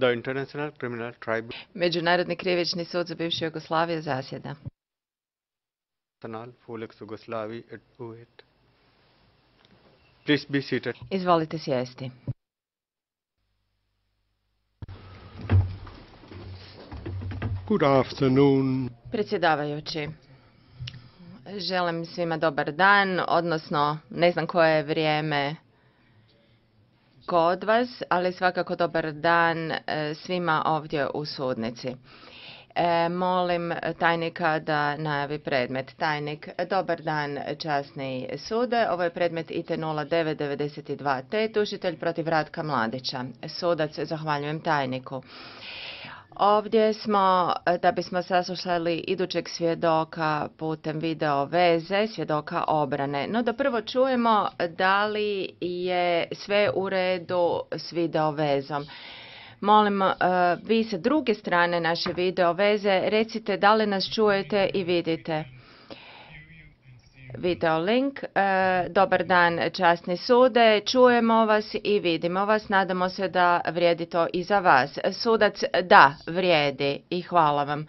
The International Criminal Međunarodni krivični sud za bivšu Jugoslaviju zasjeda. Tribunal for Yugoslavia at UAT. Please be seated. Izvolite sjesti. Good afternoon. Predsjedavajući, želim svima dobar dan, odnosno ne znam koje je vrijeme kod vas, ali svakako dobar dan svima ovdje u sudnici. Molim tajnika da najavi predmet. Tajnik, dobar dan časni sude. Ovo je predmet IT 0992T, tužitelj protiv Ratka Mladića. Sudac, zahvaljujem tajniku. Ovdje smo da bismo saslušali idućeg svjedoka putem video veze, svjedoka obrane. No da prvo čujemo da li je sve u redu s video vezom. Molim, vi sa druge strane naše video veze recite da li nas čujete i vidite. Video link. Dobar dan časni sude, čujemo vas i vidimo vas, nadamo se da vrijedi to i za vas. Sudac, da, vrijedi i hvala vam.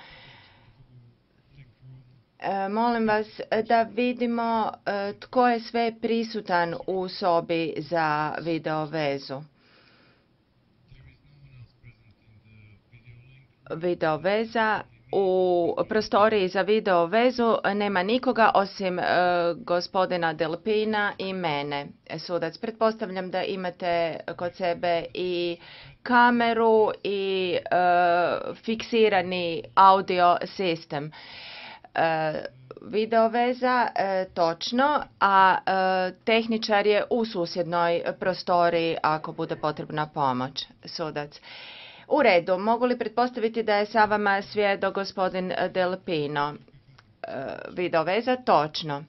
Molim vas da vidimo tko je sve prisutan u sobi za video vezu. Video veza. U prostoriji za video vezu nema nikoga osim gospodina Delpina i mene. Sudac, pretpostavljam da imate kod sebe i kameru i fiksirani audio sistem. Video veza, točno, a tehničar je u susjednoj prostoriji ako bude potrebna pomoć. Sudac. U redu, mogu li pretpostaviti da je sa vama svjedok gospodin Delpino? Video veza, točno.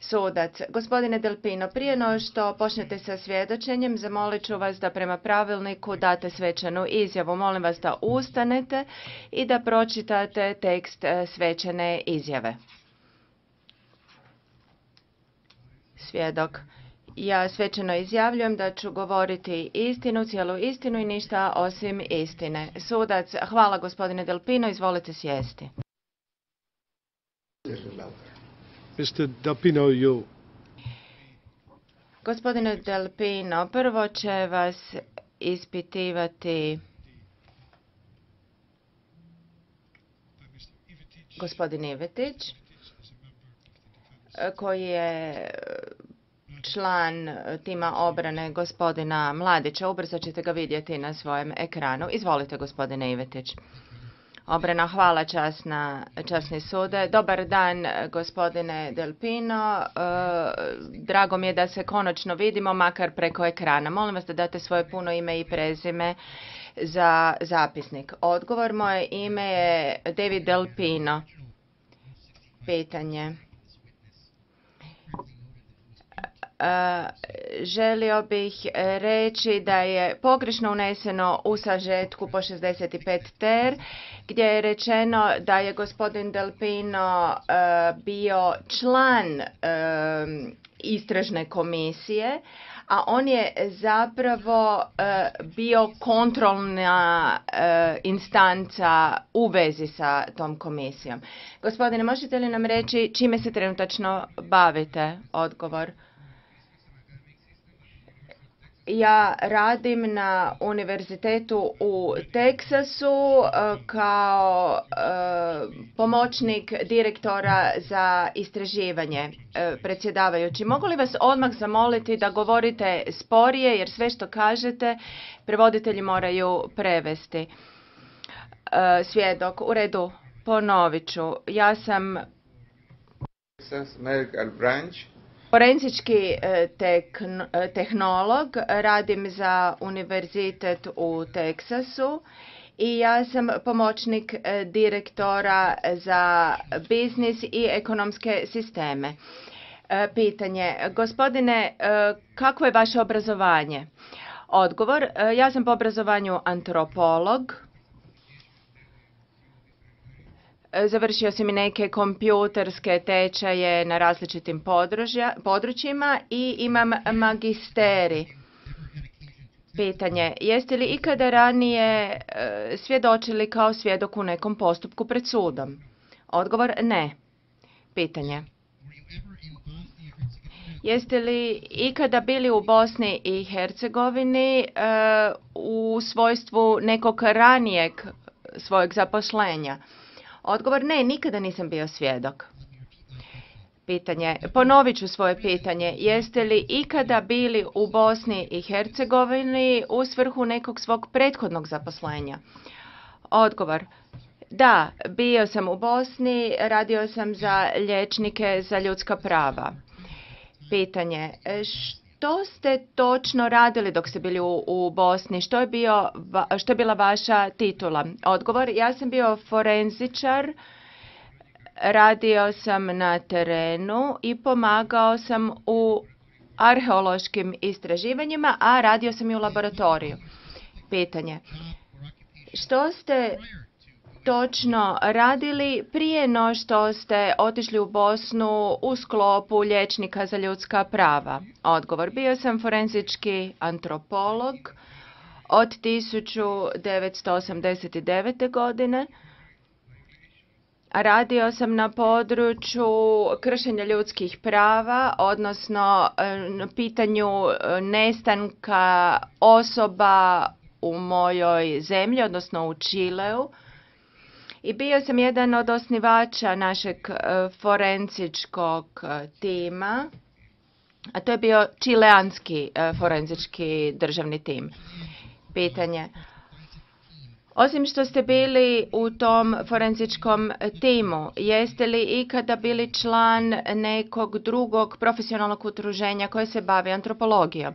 Sudac, gospodine Delpino, prije no što počnete sa svjedočenjem, zamolit ću vas da prema pravilniku date svečanu izjavu. Molim vas da ustanete i da pročitate tekst svečane izjave. Svjedok. Ja svečano izjavljujem da ću govoriti istinu, cijelu istinu i ništa osim istine. Sudac, hvala gospodine Delpino, izvolite sjesti. Mr. Delpino, you. Gospodine Delpino, prvo će vas ispitivati gospodin Ivetić, koji je član tima obrane gospodina Mladića. Ubrzo ćete ga vidjeti na svojem ekranu. Izvolite, gospodine Ivetić. Obrana, hvala časni sude. Dobar dan, gospodine Delpino. Drago mi je da se konačno vidimo, makar preko ekrana. Molim vas da date svoje puno ime i prezime za zapisnik. Odgovor, moje ime je David Delpino. Pitanje. Želio bih reći da je pogrešno uneseno u sažetku po 65 ter, gdje je rečeno da je gospodin Delpino bio član istražne komisije, a on je zapravo bio kontrolna instanca u vezi sa tom komisijom. Gospodine, možete li nam reći čime se trenutačno bavite? Odgovor. Ja radim na univerzitetu u Teksasu kao pomoćnik direktora za istraživanje. Predsjedavajući, mogu li vas odmah zamoliti da govorite sporije, jer sve što kažete prevoditelji moraju prevesti. Svjedok, u redu, ponovit ću. Ja sam forenzički tehnolog, radim za univerzitet u Teksasu i ja sam pomoćnik direktora za biznis i ekonomske sisteme. Pitanje, gospodine, kakvo je vaše obrazovanje? Odgovor, ja sam po obrazovanju antropolog. Završio sam i neke kompjuterske tečaje na različitim područjima i imam magisterij. Pitanje. Jeste li ikada ranije svjedočili kao svjedok u nekom postupku pred sudom? Odgovor ne. Pitanje. Jeste li ikada bili u Bosni i Hercegovini u svojstvu nekog ranijeg svojeg zaposlenja? Odgovor ne, nikada nisam bio svjedok. Pitanje. Ponovit ću svoje pitanje. Jeste li ikada bili u Bosni i Hercegovini u svrhu nekog svog prethodnog zaposlenja? Odgovor. Da, bio sam u Bosni, radio sam za liječnike za ljudska prava. Pitanje. Što ste točno radili dok ste bili u Bosni? Što je bila vaša titula? Odgovor. Ja sam bio forenzičar. Radio sam na terenu i pomagao sam u arheološkim istraživanjima, a radio sam i u laboratoriju. Pitanje. Što ste točno radili prije no što ste otišli u Bosnu u sklopu liječnika za ljudska prava? Odgovor. Bio sam forenzički antropolog od 1989. godine. Radio sam na području kršenja ljudskih prava, odnosno na pitanju nestanka osoba u mojoj zemlji, odnosno u Čileu. I bio sam jedan od osnivača našeg forenzičkog tima, a to je bio čileanski forenzički državni tim. Pitanje. Osim što ste bili u tom forenzičkom timu, jeste li ikada bili član nekog drugog profesionalnog udruženja koje se bavi antropologijom?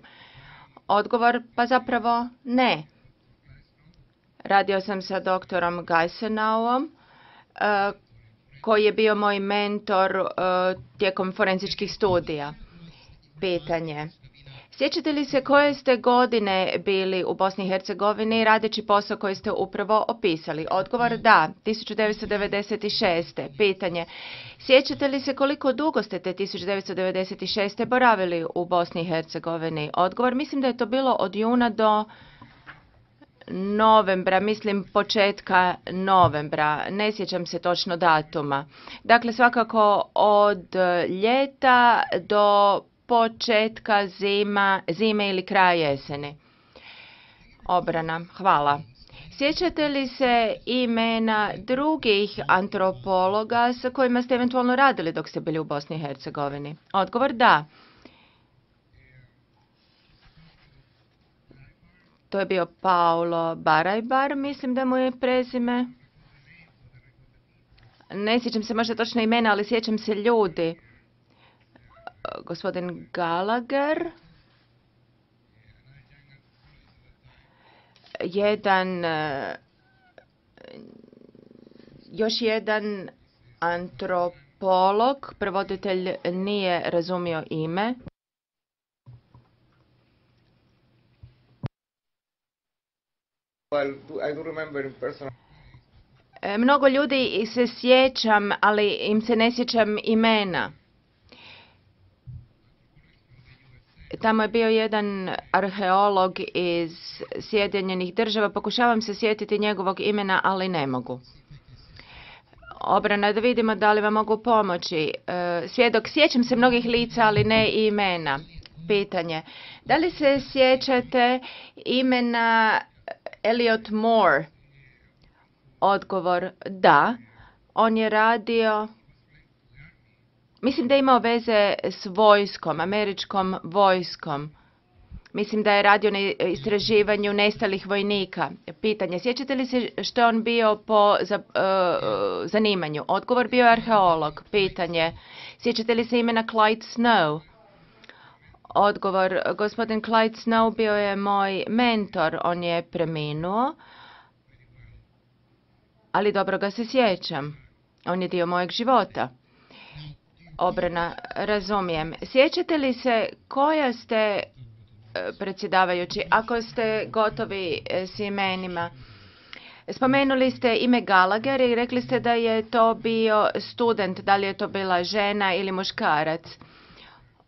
Odgovor, pa zapravo ne. Radio sam sa doktorom Geisenauom, koji je bio moj mentor tijekom forenzičkih studija. Pitanje. Sjećate li se koje ste godine bili u Bosni i Hercegovini radeći posao koji ste upravo opisali? Odgovor da, 1996. Pitanje. Sjećate li se koliko dugo ste te 1996. boravili u Bosni i Hercegovini? Odgovor, mislim da je to bilo od juna do novembra, mislim početka novembra, ne sjećam se točno datuma. Dakle, svakako od ljeta do početka zime ili kraja jeseni. Obrana, hvala. Sjećate li se imena drugih antropologa sa kojima ste eventualno radili dok ste bili u Bosni i Hercegovini? Odgovor da. To je bio Paulo Barajbar, mislim da mu je prezime. Ne sjećam se možda točno imena, ali sjećam se ljudi. Gospodin Gallagher. Još jedan antropolog, prevoditelj nije razumio ime. I do remember in person. Mnogo ljudi se sjećam, ali im se ne sjećam imena. Tamo je bio jedan arheolog iz Sjedinjenih Država. Pokušavam se sjetiti njegovog imena, ali ne mogu. Obrana, da vidimo da li vam mogu pomoći. Svjedok, sjećam se mnogih lica, ali ne i imena. Pitanje. Da li se sjećate imena Elliot Moore? Odgovor, da. On je radio, mislim da je imao veze s vojskom, američkom vojskom. Mislim da je radio na istraživanju nestalih vojnika. Pitanje, sjećate li se što je on bio po zanimanju? Odgovor, bio je arheolog. Pitanje, sjećate li se imena Clyde Snow? Odgovor, gospodin Clyde Snow bio je moj mentor, on je preminuo, ali dobro ga se sjećam. On je dio mojeg života. Obrana, razumijem. Sjećate li se koja ste, predsjedavajući, ako ste gotovi s imenima, spomenuli ste ime Gallagher i rekli ste da je to bio student, da li je to bila žena ili muškarac?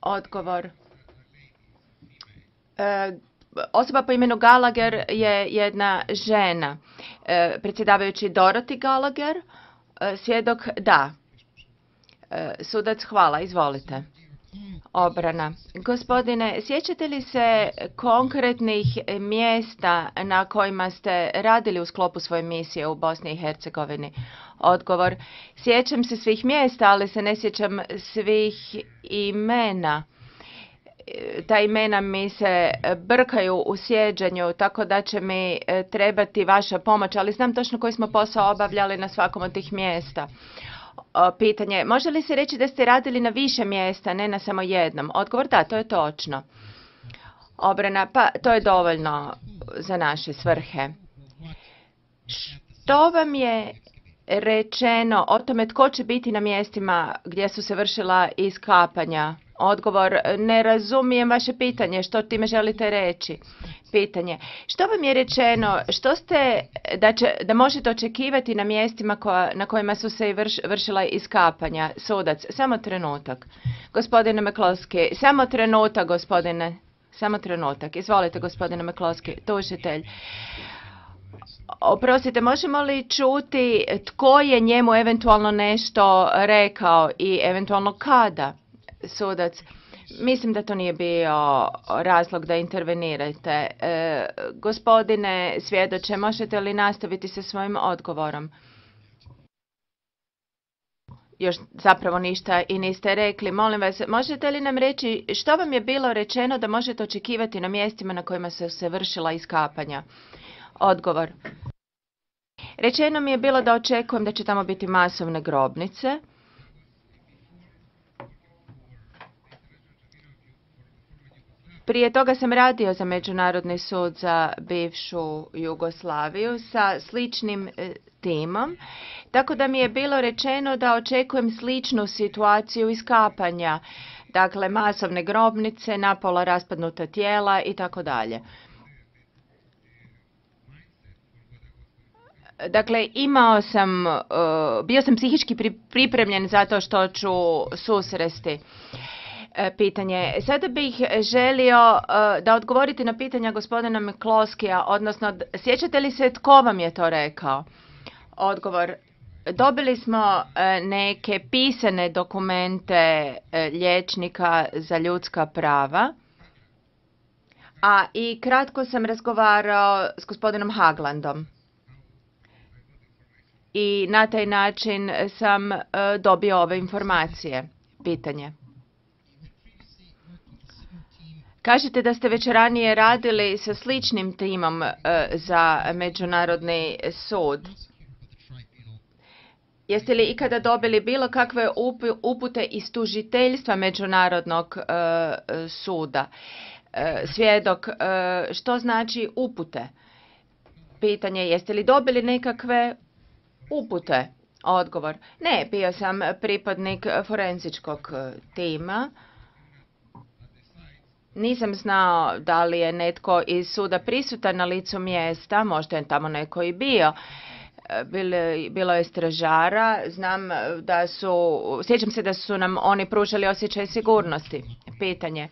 Odgovor. osoba po imenu Gallagher je jedna žena. Predsjedavajući Dorothy Gallagher, svjedok da. Sudac, hvala, izvolite. Obrana. Gospodine, sjećate li se konkretnih mjesta na kojima ste radili u sklopu svoje misije u Bosni i Hercegovini? Odgovor. Sjećam se svih mjesta, ali se ne sjećam svih imena. Ta imena mi se brkaju u sjeđanju, tako da će mi trebati vaša pomoć, ali znam točno koji smo posao obavljali na svakom od tih mjesta. Pitanje, može li se reći da ste radili na više mjesta, ne na samo jednom? Odgovor, da, to je točno. Obrana, pa to je dovoljno za naše svrhe. Što vam je rečeno o tome tko će biti na mjestima gdje su se vršila iskapanja? Odgovor, ne razumijem vaše pitanje, što time želite reći? Pitanje, što vam je rečeno, što ste, da možete očekivati na mjestima na kojima su se vršila iskapanja? Sudac, samo trenutak. Gospodine McCloskey, samo trenutak, gospodine, samo trenutak. Izvolite, gospodine McCloskey, tužitelj. Oprostite, možemo li čuti tko je njemu eventualno nešto rekao i eventualno kada? Sudac, mislim da to nije bio razlog da intervenirate. Gospodine svjedoče, možete li nastaviti sa svojim odgovorom? Još zapravo ništa i niste rekli. Molim vas, možete li nam reći što vam je bilo rečeno da možete očekivati na mjestima na kojima su se vršila iskapanja? Odgovor. Rečeno mi je bilo da očekujem da će tamo biti masovne grobnice. Prije toga sam radio za Međunarodni sud za bivšu Jugoslaviju sa sličnim timom, tako da mi je bilo rečeno da očekujem sličnu situaciju iskapanja, dakle masovne grobnice, napola raspadnuta tijela i tako dalje. Dakle, bio sam psihički pripremljen za to što ću susresti. Pitanje. Sada bih želio da odgovorite na pitanja gospodina McCloskeya, odnosno sjećate li se tko vam je to rekao? Odgovor. Dobili smo neke pisane dokumente liječnika za ljudska prava, a i kratko sam razgovarao s gospodinom Haglandom. I na taj način sam dobio ove informacije. Pitanje. Kažete da ste već ranije radili sa sličnim timom za Međunarodni sud. Jeste li ikada dobili bilo kakve upute iz tužiteljstva Međunarodnog suda? Svjedok, što znači upute? Pitanje, jeste li dobili nekakve upute? Odgovor, ne, bio sam pripadnik forenzičkog tima. Nisam znao da li je netko iz suda prisutan na licu mjesta, možda je tamo neko i bio. Bilo je stražara, sjećam se da su nam oni pružali osjećaj sigurnosti. Pitanje.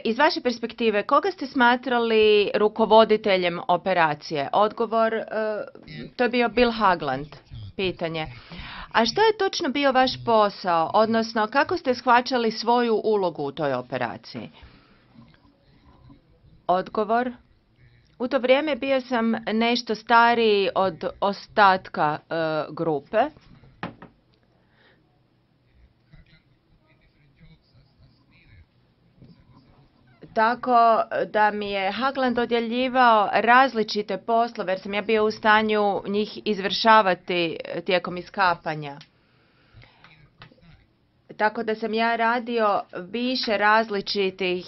Iz vaše perspektive, koga ste smatrali rukovoditeljem operacije? Odgovor, to je bio Bill Hagland. Pitanje. A što je točno bio vaš posao, odnosno kako ste shvaćali svoju ulogu u toj operaciji? Odgovor. U to vrijeme bio sam nešto stariji od ostatka grupe. Tako da mi je Hagland dodjeljivao različite poslove jer sam ja bio u stanju njih izvršavati tijekom iskapanja. Tako da sam ja radio više različitih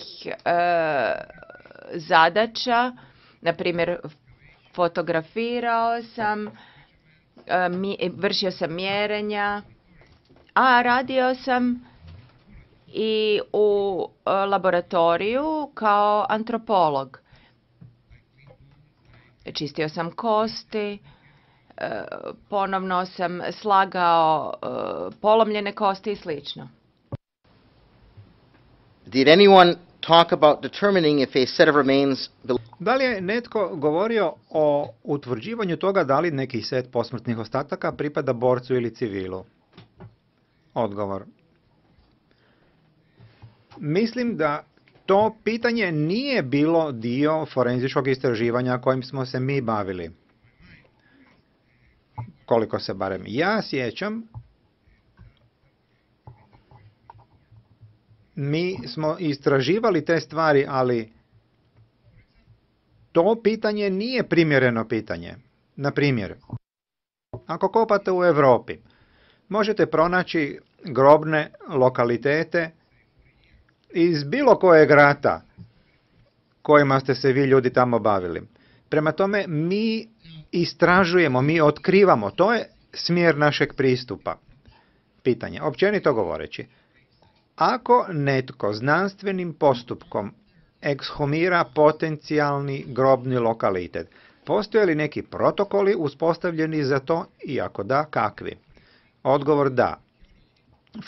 zadaća, na primjer fotografirao sam, vršio sam mjerenja, a radio sam i u laboratoriju kao antropolog. Čistio sam kosti, ponovno sam slagao polomljene kosti i slično. Did anyone talk about determining if a set of remains Da li je netko govorio o utvrđivanju toga da li neki set posmrtnih ostataka pripada borcu ili civilu? Odgovor. Mislim da to pitanje nije bilo dio forenzičkog istraživanja kojim smo se mi bavili. Koliko se barem ja sjećam, mi smo istraživali te stvari, ali to pitanje nije primjereno pitanje. Na primjer, ako kopate u Europi, možete pronaći grobne lokalitete iz bilo kojeg rata kojima ste se vi ljudi tamo bavili. Prema tome, mi istražujemo, mi otkrivamo, to je smjer našeg pristupa. Pitanje, općenito govoreći, ako netko znanstvenim postupkom ekshumira potencijalni grobni lokalitet, postoje li neki protokoli uspostavljeni za to i ako da, kakvi? Odgovor da.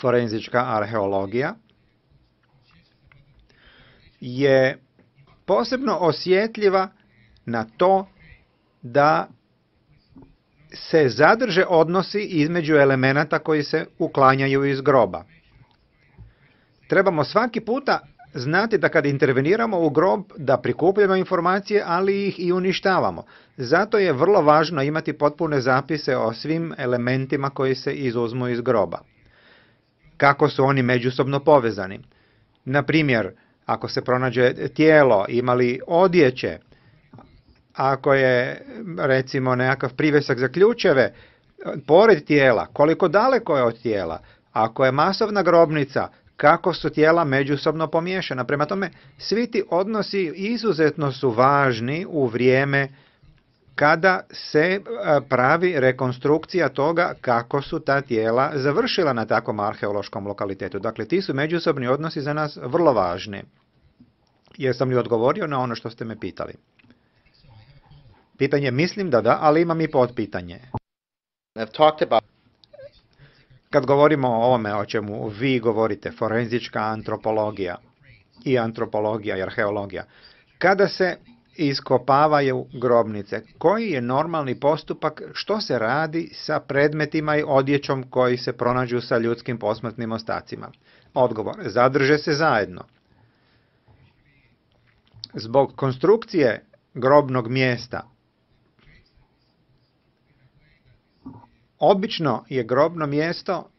Forenzička arheologija je posebno osjetljiva na to da se zadrže odnosi između elemenata koji se uklanjaju iz groba. Trebamo svaki puta znati da kad interveniramo u grob da prikupljamo informacije, ali ih i uništavamo. Zato je vrlo važno imati potpune zapise o svim elementima koji se izuzmu iz groba. Kako su oni međusobno povezani? Na primjer, ako se pronađe tijelo, ima li odjeće, ako je recimo nekakav privjesak za ključeve pored tijela, koliko daleko je od tijela, ako je masovna grobnica, kako su tijela međusobno pomiješana. Prema tome, svi ti odnosi izuzetno su važni u vrijeme kada se pravi rekonstrukcija toga kako su ta tijela završila na takvom arheološkom lokalitetu. Dakle, ti su međusobni odnosi za nas vrlo važni. Jesam li odgovorio na ono što ste me pitali? Pitanje mislim da, ali imam i potpitanje. Kad govorimo o ovome o čemu vi govorite, forenzička antropologija i arheologija, kada se iskopavaju grobnice, koji je normalni postupak, što se radi sa predmetima i odjećom koji se pronađu sa ljudskim posmrtnim ostacima? Odgovor, zadrže se zajedno. Zbog konstrukcije grobnog mjesta, obično je grobno mjesto,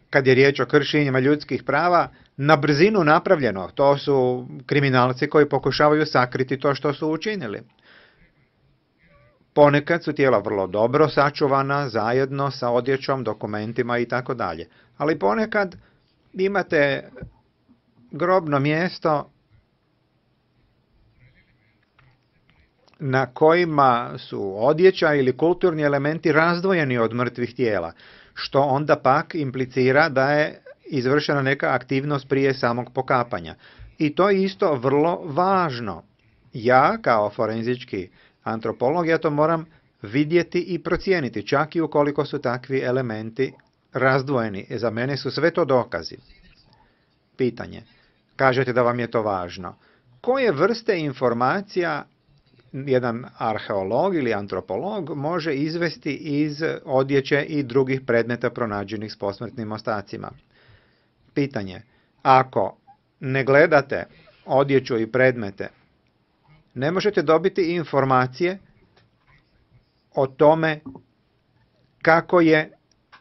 kad je riječ o kršenjima ljudskih prava, na brzinu napravljeno. To su kriminalci koji pokušavaju sakriti to što su učinili. Ponekad su tijela vrlo dobro sačuvana, zajedno sa odjećom, dokumentima i tako dalje. Ali ponekad imate grobno mjesto na kojima su odjeća ili kulturni elementi razdvojeni od mrtvih tijela, što onda pak implicira da je izvršena neka aktivnost prije samog pokapanja. I to je isto vrlo važno. Ja, kao forenzički antropolog, ja to moram vidjeti i procijeniti, čak i ukoliko su takvi elementi razdvojeni. Za mene su sve to dokazi. Pitanje. Kažete da vam je to važno. Koje vrste informacija jedan arheolog ili antropolog može izvesti iz odjeće i drugih predmeta pronađenih s posmrtnim ostacima? Pitanje. Ako ne gledate odjeću i predmete, ne možete dobiti informacije o tome kako je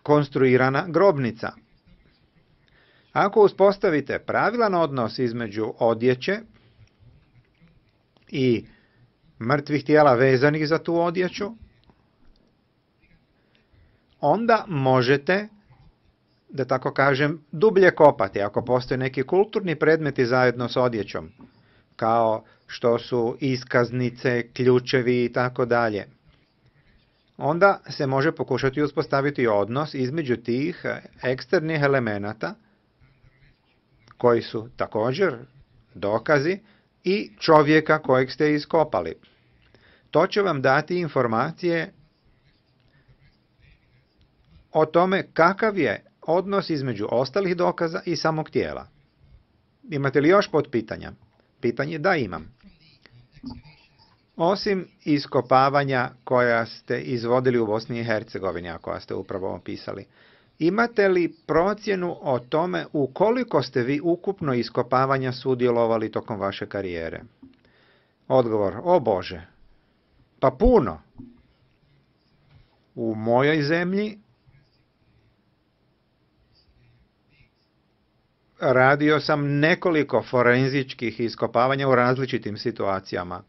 konstruirana grobnica. Ako uspostavite pravilan odnos između odjeće i mrtvih tijela vezanih za tu odjeću, onda možete, da tako kažem, dublje kopati. Ako postoje neki kulturni predmeti zajedno s odjećom, kao što su iskaznice, ključevi i tako dalje, onda se može pokušati uspostaviti odnos između tih eksternih elemenata, koji su također dokazi, i čovjeka kojeg ste iskopali. To će vam dati informacije o tome kakav je odnos između ostalih dokaza i samog tijela. Imate li još potpitanja? Pitanje da imam. Osim iskopavanja koja ste izvodili u Bosni i Hercegovini, a koja ste upravo opisali, imate li procjenu o tome u koliko ste vi ukupno iskopavanja sudjelovali tokom vaše karijere? Odgovor, o Bože, pa puno. U mojoj zemlji radio sam nekoliko forenzičkih iskopavanja u različitim situacijama.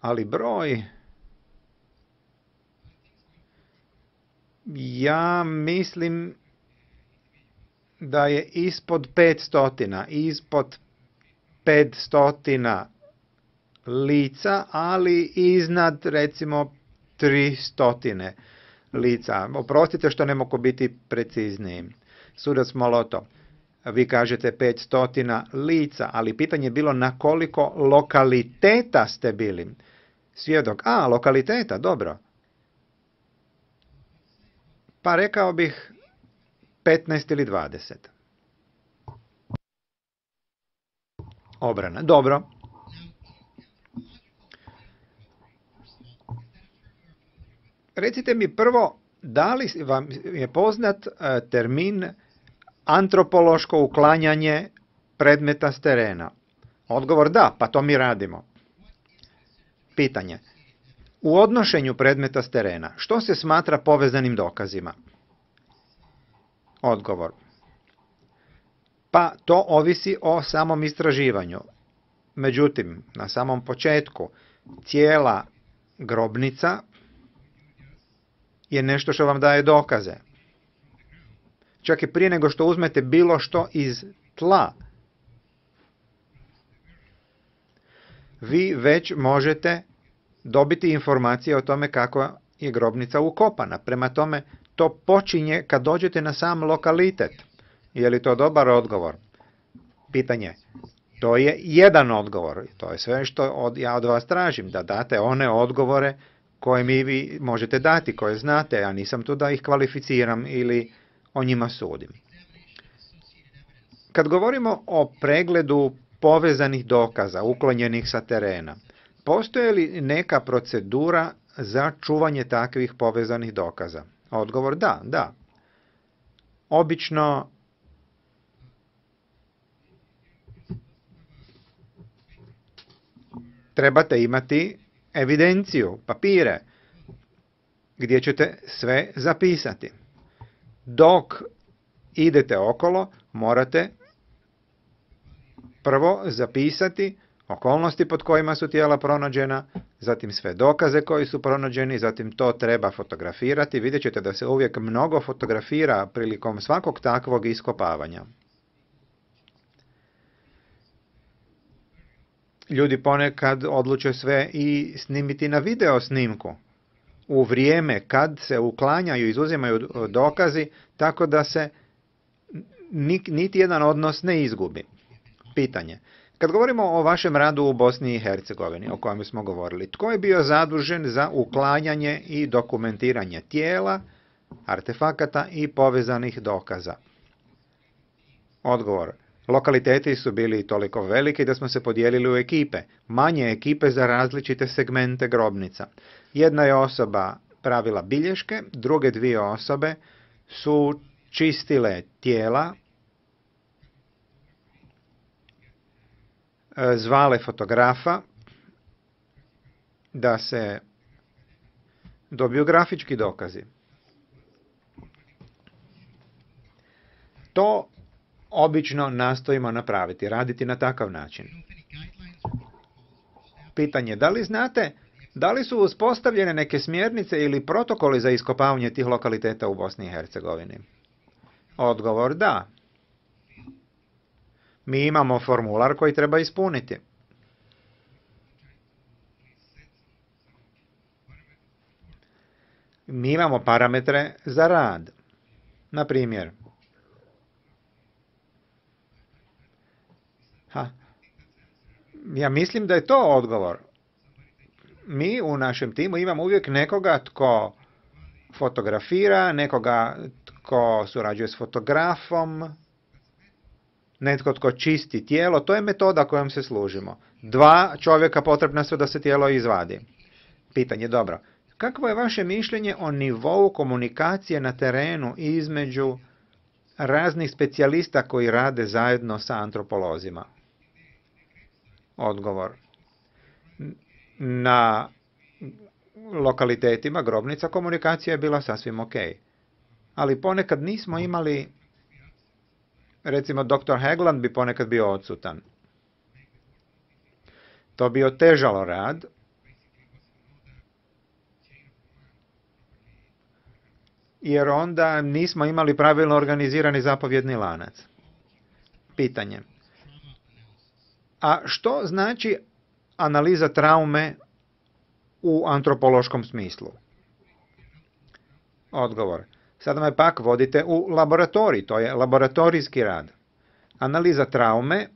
Ali broj, ja mislim da je ispod 500 lica, ali iznad recimo 300 lica. Oprostite što ne mogu biti precizniji. Sudac Molotov, vi kažete 500 lica, ali pitanje je bilo na koliko lokaliteta ste bili. Svjedok, lokaliteta, dobro. Pa rekao bih 15 ili 20. Obrana, dobro. Recite mi prvo, da li vam je poznat termin antropološko uklanjanje predmeta s terena? Odgovor da, pa to mi radimo. Pitanje. U odnošenju predmeta s terena, što se smatra povezanim dokazima? Odgovor. Pa to ovisi o samom istraživanju. Međutim, na samom početku, cijela grobnica je nešto što vam daje dokaze. Čak i prije nego što uzmete bilo što iz tla, vi već možete dobiti informacije o tome kako je grobnica ukopana. Prema tome, to počinje kad dođete na sam lokalitet. Je li to dobar odgovor? Pitanje. To je jedan odgovor. To je sve što ja od vas tražim, da date one odgovore koje mi vi možete dati, koje znate. Ja nisam tu da ih kvalificiram ili o njima sudim. Kad govorimo o pregledu povezanih dokaza uklonjenih sa terena, postoji li neka procedura za čuvanje takvih povezanih dokaza? Odgovor da. Obično trebate imati evidenciju, papire, gdje ćete sve zapisati. Dok idete okolo, morate prvo zapisati okolnosti pod kojima su tijela pronađena, zatim sve dokaze koji su pronađeni, zatim to treba fotografirati. Vidjet ćete da se uvijek mnogo fotografira prilikom svakog takvog iskopavanja. Ljudi ponekad odluče sve i snimiti na video snimku u vrijeme kad se uklanjaju i izuzimaju dokazi, tako da se niti jedan odnos ne izgubi. Pitanje. Kad govorimo o vašem radu u Bosni i Hercegovini, o kojem smo govorili, tko je bio zadužen za uklanjanje i dokumentiranje tijela, artefakata i povezanih dokaza? Odgovor. Lokaliteti su bili toliko veliki da smo se podijelili u ekipe, manje ekipe za različite segmente grobnica. Jedna je osoba pravila bilješke, druge dvije osobe su čistile tijela, zvale fotografa da se dobiju grafički dokazi. To obično nastojimo napraviti, raditi na takav način. Pitanje, da li znate, da li su uspostavljene neke smjernice ili protokoli za iskopavanje tih lokaliteta u Bosni i Hercegovini? Odgovor da. Mi imamo formular koji treba ispuniti. Mi imamo parametre za rad. Na primjer, ja mislim da je to odgovor. Mi u našem timu imamo uvijek nekoga tko fotografira, nekoga tko surađuje s fotografom, netko tko čisti tijelo, to je metoda kojom se služimo. 2 čovjeka potrebna su da se tijelo izvadi. Pitanje, dobro. Kakvo je vaše mišljenje o nivou komunikacije na terenu između raznih specijalista koji rade zajedno sa antropolozima? Odgovor. Na lokalitetima grobnica komunikacija je bila sasvim ok. Ali ponekad nismo imali, recimo dr. Haglund bi ponekad bio odsutan. To bi otežalo rad. Jer onda nismo imali pravilno organizirani zapovjedni lanac. Pitanje. A što znači analiza traume u antropološkom smislu? Odgovor. Sada me pak vodite u laboratorij, to je laboratorijski rad. Analiza traume,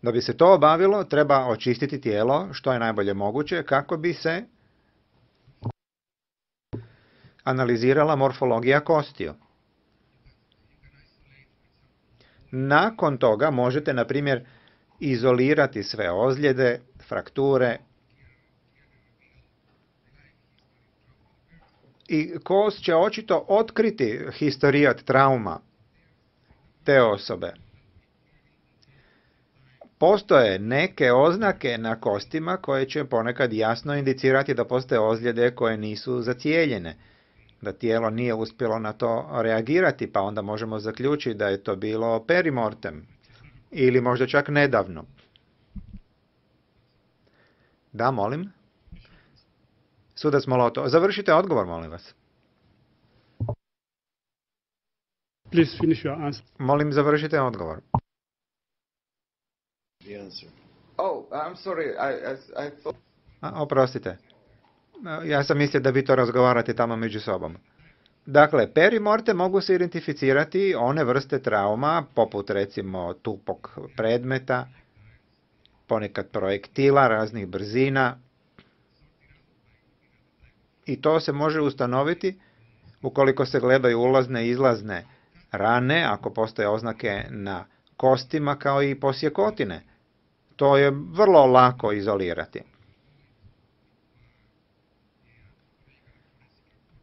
da bi se to obavilo, treba očistiti tijelo što je najbolje moguće kako bi se analizirala morfologija kostiju. Nakon toga možete, na primjer, izolirati sve ozljede, frakture i kost će očito otkriti historijat trauma te osobe. Postoje neke oznake na kostima koje će ponekad jasno indicirati da postoje ozljede koje nisu zacijeljene, da tijelo nije uspjelo na to reagirati, pa onda možemo zaključiti da je to bilo perimortem ili možda čak nedavno. Da, molim. Sudac Moloto, završite odgovor, molim vas. Please finish your answer. Molim, završite odgovor. Oh, I'm sorry. I thought. Oprostite. Ja sam mislio da vi to razgovarate tamo među sobom. Dakle, perimorte mogu se identificirati one vrste trauma, poput recimo tupog predmeta, ponekad projektila raznih brzina. I to se može ustanoviti ukoliko se gledaju ulazne i izlazne rane, ako postoje oznake na kostima kao i posjekotine. To je vrlo lako izolirati.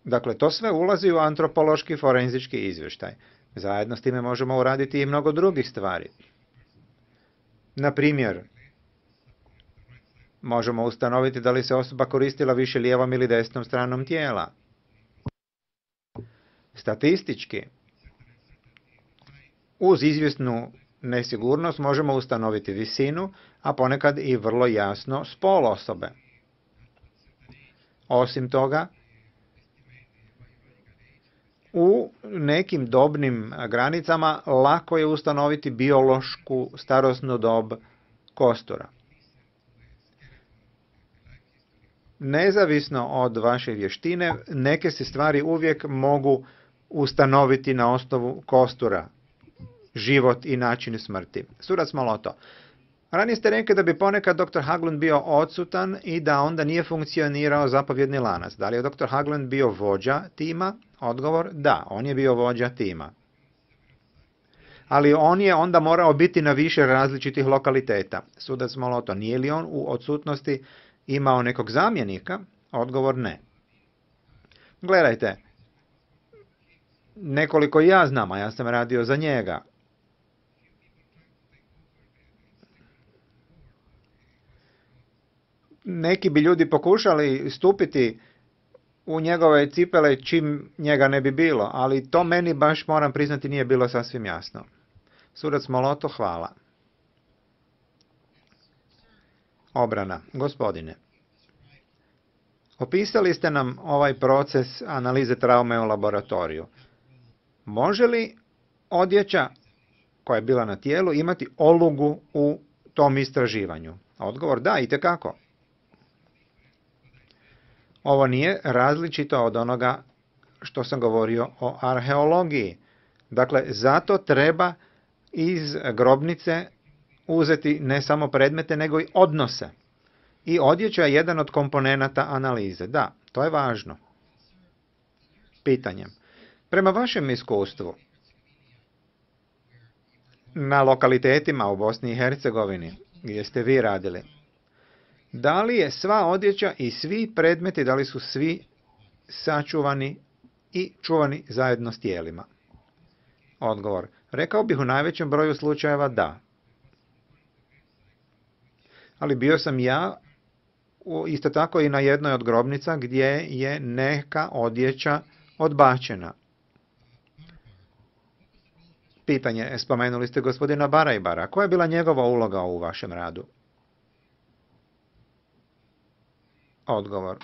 Dakle, to sve ulazi u antropološki forenzički izvještaj. Zajedno s time možemo uraditi i mnogo drugih stvari. Na primjer, možemo ustanoviti da li se osoba koristila više lijevom ili desnom stranom tijela. Statistički, uz izvjesnu nesigurnost možemo ustanoviti visinu, a ponekad i vrlo jasno spol osobe. Osim toga, u nekim dobnim granicama lako je ustanoviti biološku starosnu dob kostura. Nezavisno od vaše vještine, neke se stvari uvijek mogu ustanoviti na osnovu kostura, život i način smrti. Sudac Moloto, ranije ste rekli da bi ponekad dr. Haglund bio odsutan i da onda nije funkcionirao zapovjedni lanac. Da li je dr. Haglund bio vođa tima? Odgovor, da, on je bio vođa tima. Ali on je onda morao biti na više različitih lokaliteta. Sudac Moloto, nije li on u odsutnosti imao nekog zamjenika? Odgovor, ne. Gledajte, nekoliko ja znam, a ja sam radio za njega. Neki bi ljudi pokušali stupiti u njegove cipele čim njega ne bi bilo, ali to meni baš, moram priznati, nije bilo sasvim jasno. Sudac Moloto, hvala. Obrana. Gospodine, opisali ste nam ovaj proces analize traume u laboratoriju. Može li odjeća koja je bila na tijelu imati olugu u tom istraživanju? Odgovor, da, itekako. Ovo nije različito od onoga što sam govorio o arheologiji. Dakle, zato treba iz grobnice uzeti ne samo predmete, nego i odnose. I odjeća je jedan od komponenata analize. Da, to je važno. Pitanje. Prema vašem iskustvu, na lokalitetima u Bosni i Hercegovini, gdje ste vi radili, da li je sva odjeća i svi predmeti, da li su svi sačuvani i čuvani zajedno s tijelima? Odgovor. Rekao bih u najvećem broju slučajeva da. Ali bio sam ja isto tako i na jednoj od grobnica gdje je neka odjeća odbačena. Pitanje, spomenuli ste gospodina Barajbara. Koja je bila njegova uloga u vašem radu? Odgovor.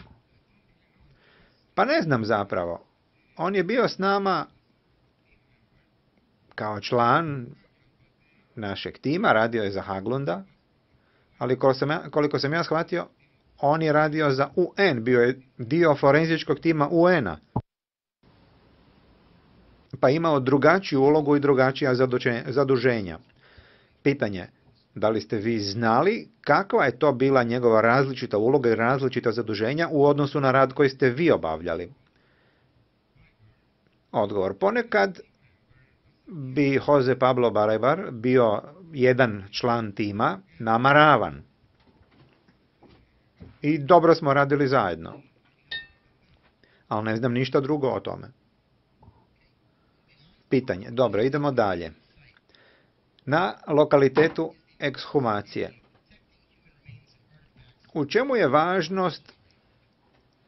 Pa ne znam zapravo. On je bio s nama kao član našeg tima, radio je za Haglunda, ali koliko sam ja shvatio, on je radio za UN, bio je dio forenzičkog tima UN-a. Pa imao drugačiju ulogu i drugačija zaduženja. Pitanje, da li ste vi znali kakva je to bila njegova različita uloga i različita zaduženja u odnosu na rad koji ste vi obavljali? Odgovor, ponekad bi Jose Pablo Barajbar bio jedan član tima namaravan. I dobro smo radili zajedno. Ali ne znam ništa drugo o tome. Pitanje. Dobro, idemo dalje. Na lokalitetu ekshumacije. U čemu je važnost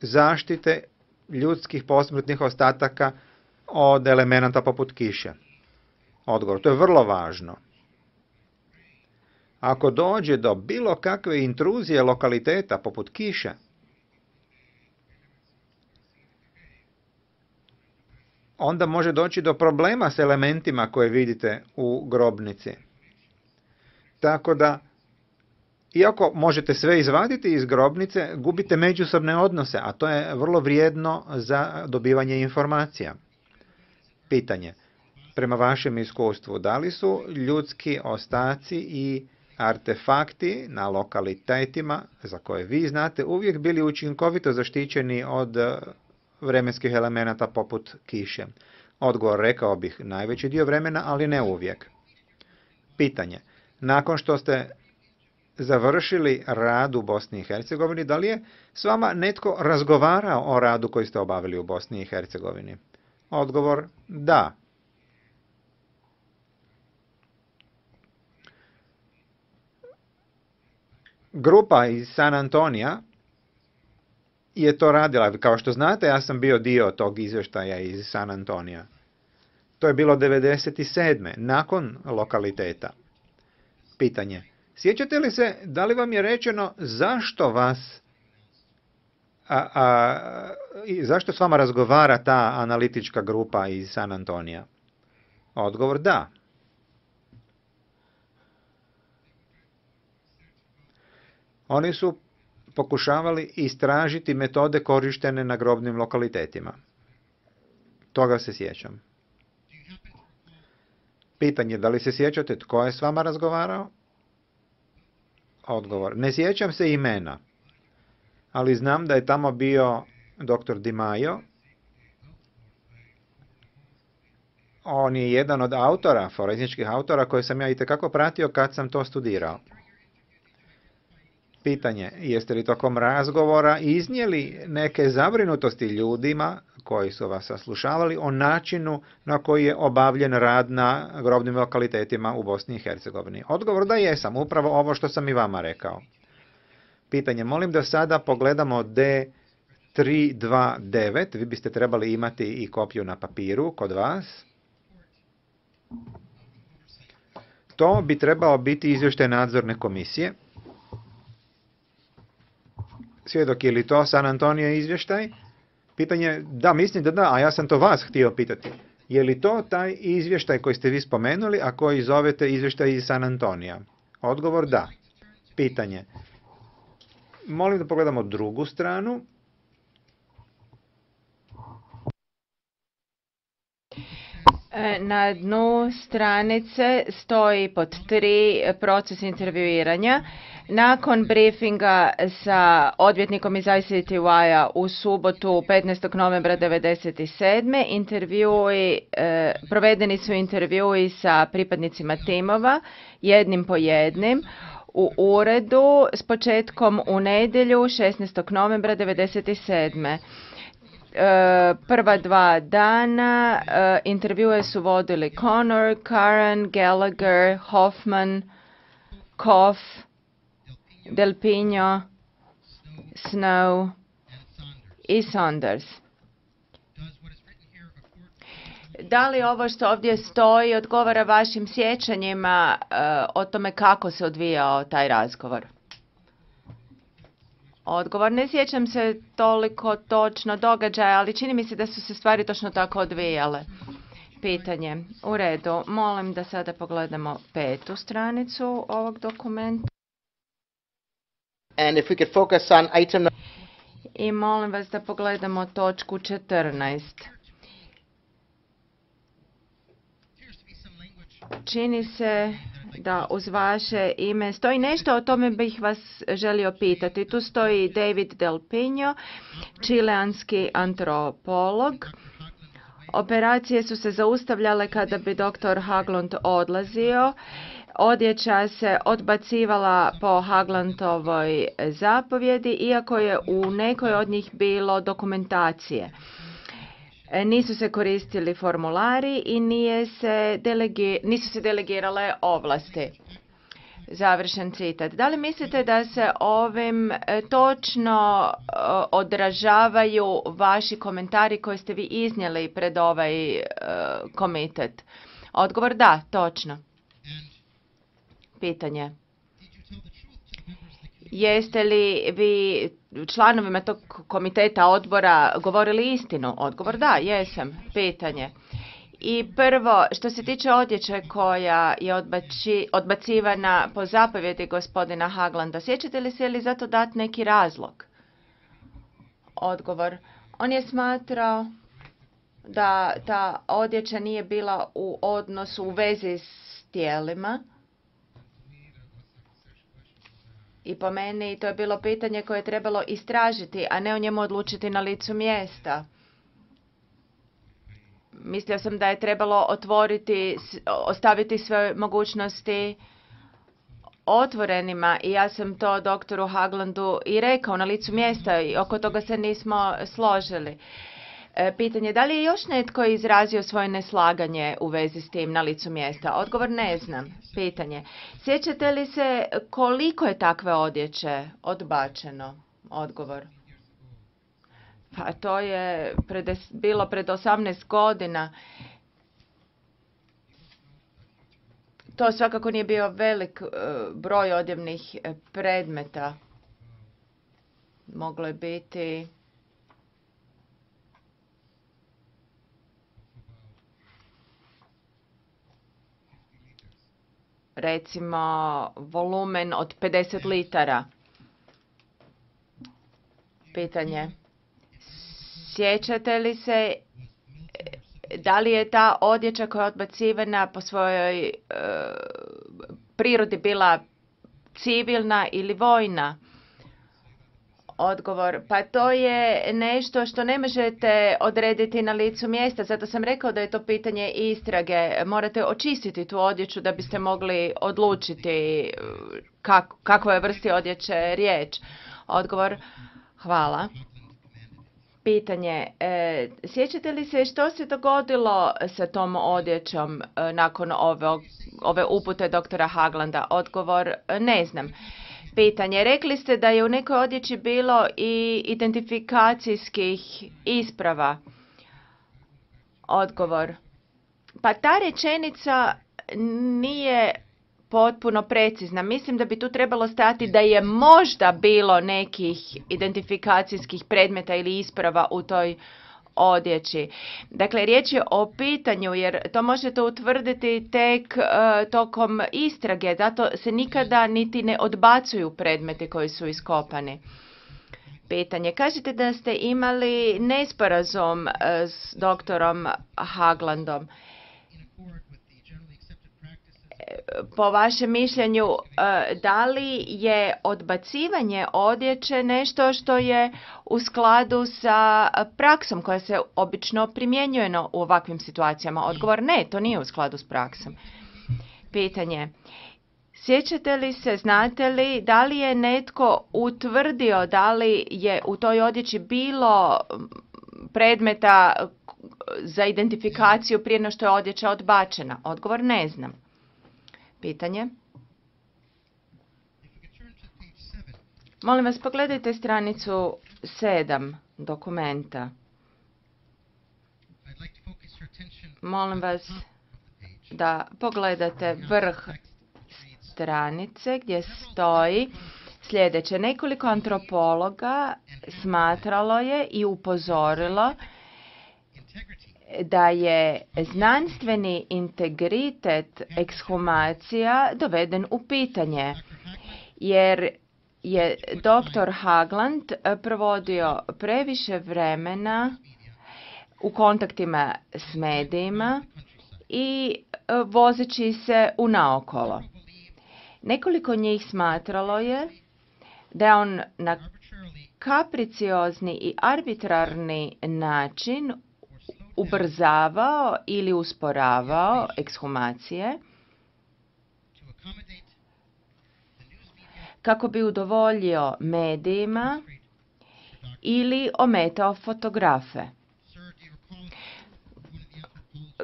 zaštite ljudskih posmrtnih ostataka od elemenata poput kiše? Odgovor. To je vrlo važno. Ako dođe do bilo kakve intruzije lokaliteta poput kiše, onda može doći do problema s elementima koje vidite u grobnici. Tako da, iako možete sve izvaditi iz grobnice, gubite međusobne odnose, a to je vrlo vrijedno za dobivanje informacija. Pitanje. Prema vašem iskustvu, da li su ljudski ostaci i artefakti na lokalitetima za koje vi znate uvijek bili učinkovito zaštićeni od vremenskih elemenata poput kiše? Odgovor, rekao bih, najveći dio vremena, ali ne uvijek. Pitanje. Nakon što ste završili rad u Bosni i Hercegovini, da li je s vama netko razgovarao o radu koji ste obavili u Bosni i Hercegovini? Odgovor, da. Grupa iz San Antonija je to radila. Kao što znate, ja sam bio dio tog izvještaja iz San Antonija. To je bilo 1997. nakon lokaliteta. Pitanje. Sjećate li se, da li vam je rečeno zašto vas, zašto s vama razgovara ta analitička grupa iz San Antonija? Odgovor, da. Oni su pokušavali istražiti metode korištene na grobnim lokalitetima. Toga se sjećam. Pitanje, da li se sjećate tko je s vama razgovarao? Odgovor, ne sjećam se imena, ali znam da je tamo bio dr. Di Maio. On je jedan od autora, forenzičkih autora, koje sam ja itekako pratio kad sam to studirao. Pitanje, jeste li tokom razgovora iznijeli neke zabrinutosti ljudima koji su vas saslušavali o načinu na koji je obavljen rad na grobnim lokalitetima u Bosni i Hercegovini? Odgovor, da jesam, upravo ovo što sam i vama rekao. Pitanje, molim da sada pogledamo D329, vi biste trebali imati i kopiju na papiru kod vas. To bi trebao biti izvještaj nadzorne komisije. Svjedok, je li to San Antonio izvještaj? Pitanje, da, mislim da da, a ja sam to vas htio pitati. Je li to taj izvještaj koji ste vi spomenuli, a koji zovete izvještaj iz San Antonija? Odgovor, da. Pitanje, molim da pogledamo drugu stranu. Na dnu stranice stoji pod 3 proces intervjuiranja. Nakon briefinga sa odvjetnikom iz ICTY-a u subotu 15. novembra 1997. Provedeni su intervjui sa pripadnicima timova, jednim po jednim, u uredu s početkom u nedjelju 16. novembra 1997. Prva 2 dana intervjue su vodili Connor, Karen, Gallagher, Hoffman, Koff, Del Pino, Snow i Saunders. Da li ovo što ovdje stoji odgovara vašim sjećanjima o tome kako se odvijao taj razgovor? Odgovor: ne sjećam se toliko točno događaja, ali čini mi se da su se stvari točno tako odvijale. Pitanje: u redu, molim da sada pogledamo 5. stranicu ovog dokumenta. And if we could focus on item I molim vas da pogledamo točku 14. Čini se da uz vaše ime stoji nešto, o tome bih vas želio pitati. Tu stoji David Del Pino, čileanski antropolog. Operacije su se zaustavljale kada bi dr. Haglund odlazio. Odjeća se odbacivala po Haglandovoj zapovjedi, iako je u nekoj od njih bilo dokumentacije. Nisu se koristili formulari i nisu se delegirale ovlasti. Završen citat. Da li mislite da se ovim točno odražavaju vaši komentari koje ste vi iznijeli pred ovaj komitet? Odgovor: da, točno. Pitanje: jeste li vi članovima tog komiteta odbora govorili istinu? Odgovor: da, jesam. Pitanje: i prvo, što se tiče odjeće koja je odbacivana po zapovjedi gospodina Haglanda, sjećate li se, ili za to dati neki razlog? Odgovor: on je smatrao da ta odjeća nije bila u odnosu, u vezi s tijelima. I po meni to je bilo pitanje koje je trebalo istražiti, a ne o njemu odlučiti na licu mjesta. Mislio sam da je trebalo ostaviti sve mogućnosti otvorenima i ja sam to doktoru Haglandu i rekao na licu mjesta i oko toga se nismo složili. Pitanje: da li je još netko izrazio svoje neslaganje u vezi s tim na licu mjesta? Odgovor: ne znam. Pitanje: sjećate li se koliko je takve odjeće odbačeno? Odgovor: pa to je bilo pred 18 godina. To svakako nije bio velik broj odjevnih predmeta. Moglo je biti recimo volumen od 50 litara. Pitanje: sjećate li se da li je ta odjeća koja je odbacivana po svojoj prirodi bila civilna ili vojna? Odgovor: pa to je nešto što ne možete odrediti na licu mjesta, zato sam rekao da je to pitanje istrage. Morate očistiti tu odjeću da biste mogli odlučiti kakva je vrsti odjeće riječ. Odgovor: hvala. Pitanje: sjećate li se što se dogodilo sa tom odjećom nakon ove upute doktora Haglanda? Odgovor: ne znam. Pitanje: rekli ste da je u nekoj odjeći bilo i identifikacijskih isprava. Odgovor: pa ta rečenica nije potpuno precizna. Mislim da bi tu trebalo stajati da je možda bilo nekih identifikacijskih predmeta ili isprava u toj odjeći. Dakle, riječ je o pitanju, jer to možete utvrditi tek tokom istrage, zato se nikada niti ne odbacuju predmeti koji su iskopani. Pitanje: kažete da ste imali nesporazum s doktorom Haglandom. po vašem mišljenju, da li je odbacivanje odjeće nešto što je u skladu sa praksom koja se obično primjenjuje u ovakvim situacijama? Odgovor ne, to nije u skladu s praksom. Pitanje. Sjećate li se, znate li, da li je netko utvrdio da li je u toj odjeći bilo predmeta za identifikaciju prije nego što je odjeća odbačena? Odgovor ne znam. Pitanje. Molim vas, pogledajte stranicu 7 dokumenta. Molim vas da pogledate vrh stranice gdje stoji sljedeće. Nekoliko antropologa smatralo je i upozorilo da je znanstveni integritet ekshumacija doveden u pitanje, jer je dr. Hagland provodio previše vremena u kontaktima s medijima i vozeći se unaokolo. Nekoliko njih smatralo je da je on na kapriciozni i arbitrarni način ubrzavao ili usporavao ekshumacije kako bi udovoljio medijima ili ometao fotografe.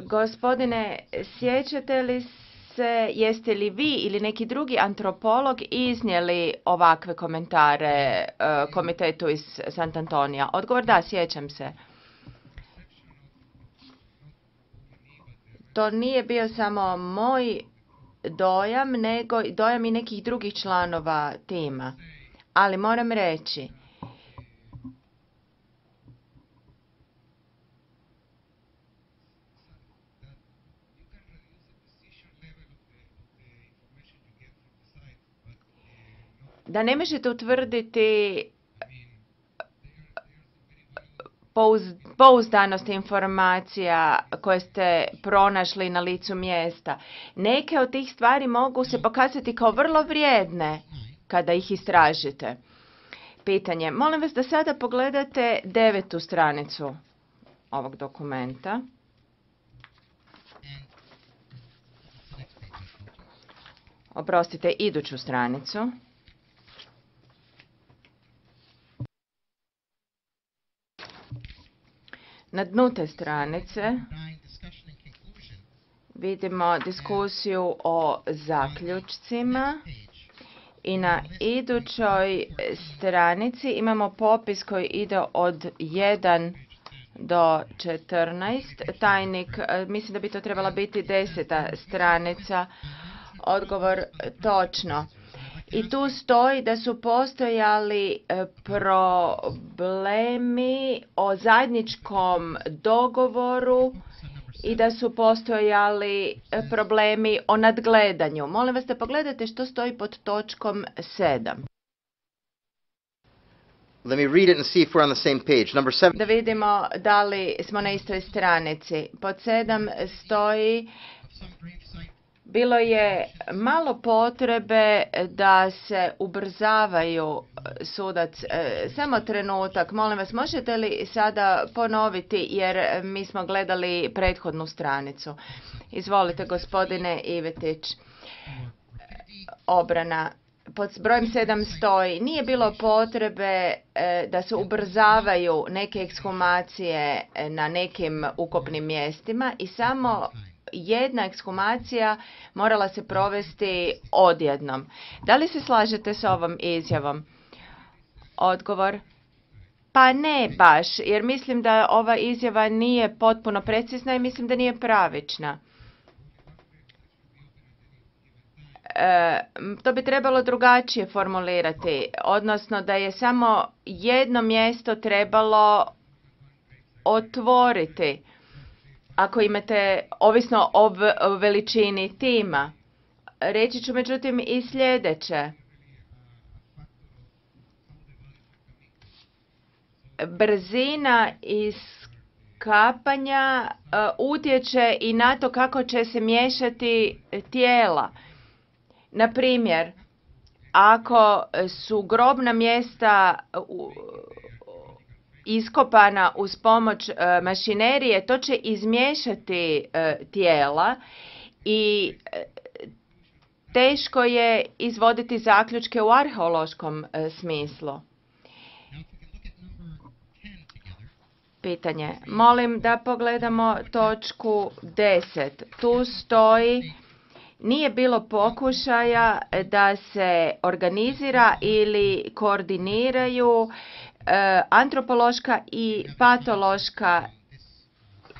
Gospodine, sjećate li se, jeste li vi ili neki drugi antropolog iznijeli ovakve komentare komitetu iz Sant Antonija? Odgovor da, sjećam se. To nije bio samo moj dojam, nego dojam i nekih drugih članova tima. Ali moram reći, da ne možete utvrditi pouzdanost informacija koje ste pronašli na licu mjesta. Neke od tih stvari mogu se pokazati kao vrlo vrijedne kada ih istražite. Pitanje. Molim vas da sada pogledate 9. stranicu ovog dokumenta. Oprostite, iduću stranicu. Na dnu te stranice vidimo diskusiju o zaključcima i na idućoj stranici imamo popis koji ide od 1 do 14. Tajnik, mislim da bi to trebala biti 10. stranica. Odgovor točno. I tu stoji da su postojali problemi o zajedničkom dogovoru i da su postojali problemi o nadgledanju. Molim vas da pogledate što stoji pod točkom 7. Let me read it and see if we're on the same page. Number 7. Da vidimo da li smo na istoj stranici. Pod 7 stoji: bilo je malo potrebe da se ubrzavaju sudac. Samo trenutak, molim vas, možete li sada ponoviti, jer mi smo gledali prethodnu stranicu. Izvolite, gospodine Ivetić. Obrana. Pod brojem 7 stoji: nije bilo potrebe da se ubrzavaju neke ekshumacije na nekim ukopnim mjestima i samo jedna ekshumacija morala se provesti odjednom. Da li se slažete s ovom izjavom? Odgovor: pa ne baš, jer mislim da ova izjava nije potpuno precizna i mislim da nije pravična. To bi trebalo drugačije formulirati, odnosno da je samo jedno mjesto trebalo otvoriti. Ako imate, ovisno o veličini tima. Reći ću međutim i sljedeće. Brzina iskapanja utječe i na to kako će se miješati tijela. Na primjer, ako su grobna mjesta iskopana uz pomoć mašinerije, to će izmiješati tijela i teško je izvoditi zaključke u arheološkom smislu. Pitanje. Molim da pogledamo točku 10. Tu stoji: nije bilo pokušaja da se organizira ili koordiniraju antropološka i patološka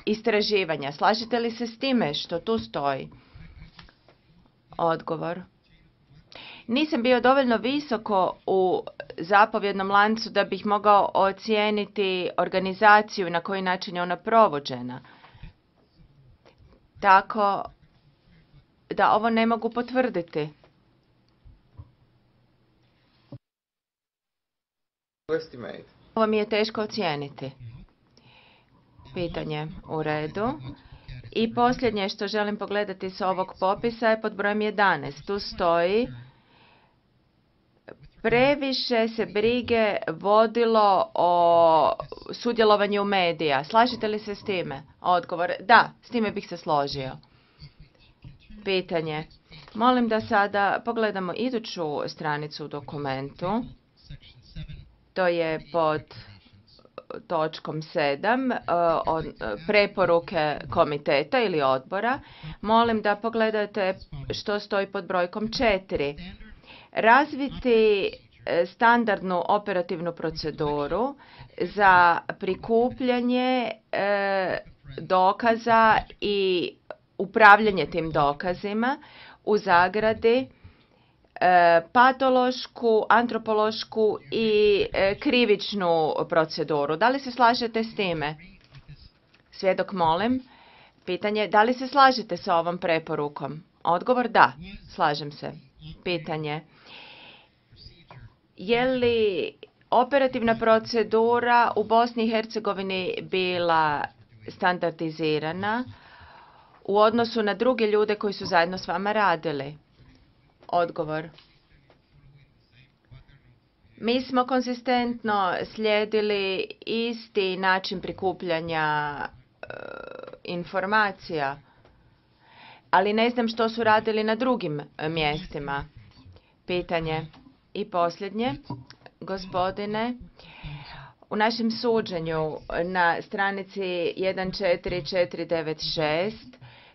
istraživanja. Slažete li se s time što tu stoji? Odgovor. Nisam bio dovoljno visoko u zapovjednom lancu da bih mogao ocijeniti organizaciju i na koji način je ona provođena. Tako da ovo ne mogu potvrditi. Estimate. Ovo mi je teško ocijeniti. Pitanje u redu. I posljednje što želim pogledati s ovog popisa je pod brojem 11. Tu stoji: previše se brige vodilo o sudjelovanju medija. Slažete li se s time? Odgovor. Da, s time bih se složio. Pitanje. Molim da sada pogledamo iduću stranicu u dokumentu. To je pod točkom 7, preporuke komiteta ili odbora. Molim da pogledate što stoji pod brojkom 4. Razviti standardnu operativnu proceduru za prikupljanje dokaza i upravljanje tim dokazima u zagradi patološku, antropološku i krivičnu proceduru. Da li se slažete s time? Svjedok, molim. Pitanje, da li se slažete sa ovom preporukom? Odgovor, da, slažem se. Pitanje, je li operativna procedura u Bosni i Hercegovini bila standardizirana u odnosu na druge ljude koji su zajedno s vama radili? Odgovor. Mi smo konzistentno slijedili isti način prikupljanja informacija, ali ne znam što su radili na drugim mjestima. Pitanje. I posljednje, gospodine, u našem suđenju na stranici 14496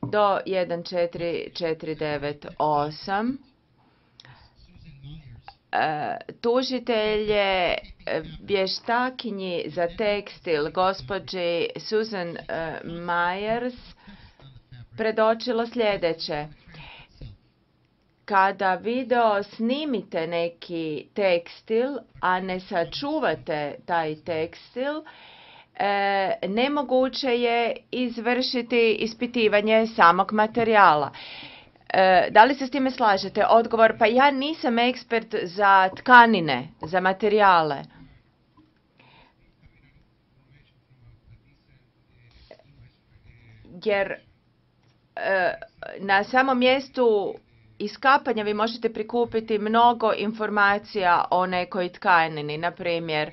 do 14498 tužitelj je vještakinji za tekstil gospođi Susan Myers predočilo sljedeće: kada video snimite neki tekstil, a ne sačuvate taj tekstil, nemoguće je izvršiti ispitivanje samog materijala. Da li se s time slažete? Odgovor, pa ja nisam ekspert za tkanine, za materijale. Jer na samom mjestu iskapanja vi možete prikupiti mnogo informacija o nekoj tkanini, na primjer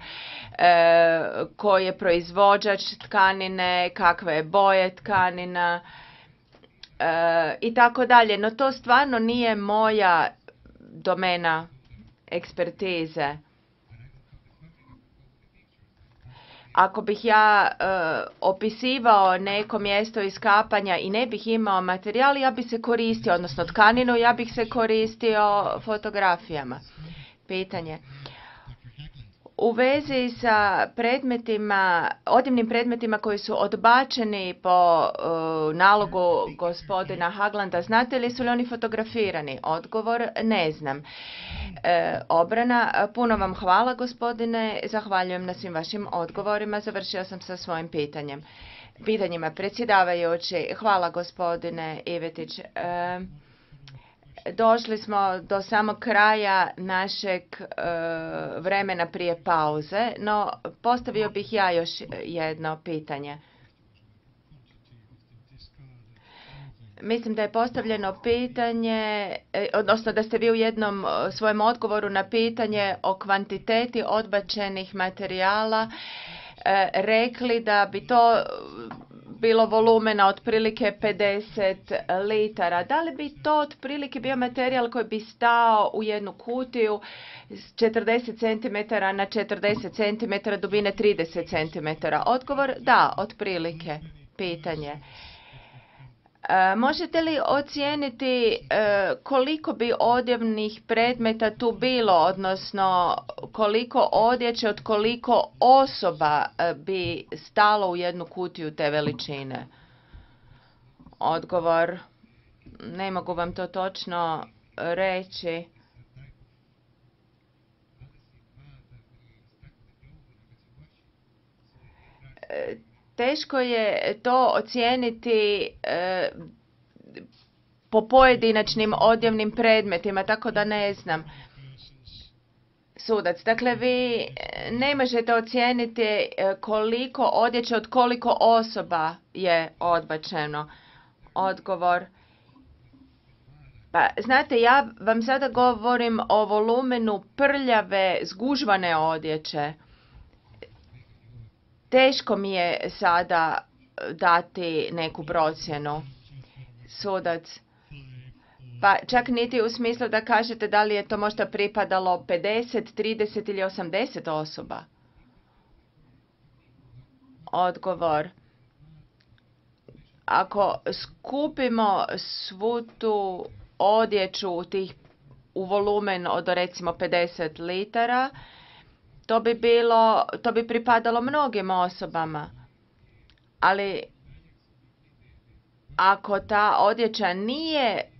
koji je proizvođač tkanine, kakve je boje tkanina i tako dalje. No to stvarno nije moja domena ekspertize. Ako bih ja opisivao neko mjesto iskapanja i ne bih imao materijal, ja bih se koristio, odnosno tkaninu, ja bih se koristio fotografijama. Pitanje. U vezi sa predmetima, odjevnim predmetima koji su odbačeni po nalogu gospodina Haglanda, znate li su li oni fotografirani? Odgovor, ne znam. Obrana, puno vam hvala gospodine, zahvaljujem na svim vašim odgovorima, završio sam sa svojim pitanjima. Predsjedavajući, hvala gospodine Ivetić. Došli smo do samog kraja našeg vremena prije pauze, no postavio bih ja još jedno pitanje. Mislim da je postavljeno pitanje, odnosno da ste vi u jednom svojem odgovoru na pitanje o kvantiteti odbačenih materijala rekli da bi to bilo volumena otprilike 50 litara. Da li bi to otprilike bio materijal koji bi stao u jednu kutiju 40 cm na 40 cm, dubine 30 cm? Odgovor da, otprilike. Pitanje. Možete li ocijeniti koliko bi odjevnih predmeta tu bilo, odnosno koliko odjeće od koliko osoba bi stalo u jednu kutiju te veličine? Odgovor, ne mogu vam to točno reći. Teško je to ocijeniti po pojedinačnim odjevnim predmetima, tako da ne znam. Sudac, dakle vi ne možete ocijeniti koliko odjeće od koliko osoba je odbačeno. Odgovor. Pa, znate, ja vam sada govorim o volumenu prljave, zgužvane odjeće. Teško mi je sada dati neku procjenu. Sudac. Pa čak niti u smislu da kažete da li je to možda pripadalo 50, 30 ili 80 osoba. Odgovor. Ako skupimo svu tu odjeću u volumen od recimo 50 litara, to bi pripadalo mnogim osobama. Ali ako ta odjeća nije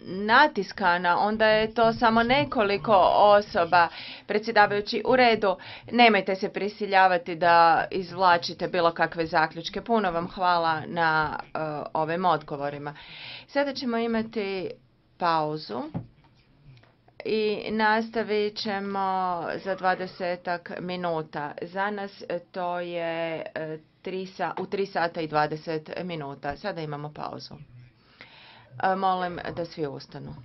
natiskana, onda je to samo nekoliko osoba. Predsjedavajući, u redu, nemojte se prisiljavati da izvlačite bilo kakve zaključke. Puno vam hvala na ovim odgovorima. Sada ćemo imati pauzu i nastavit ćemo za 20 minuta. Za nas to je u 3 sata i 20 minuta. Sada imamo pauzu. Molim da svi ustanu.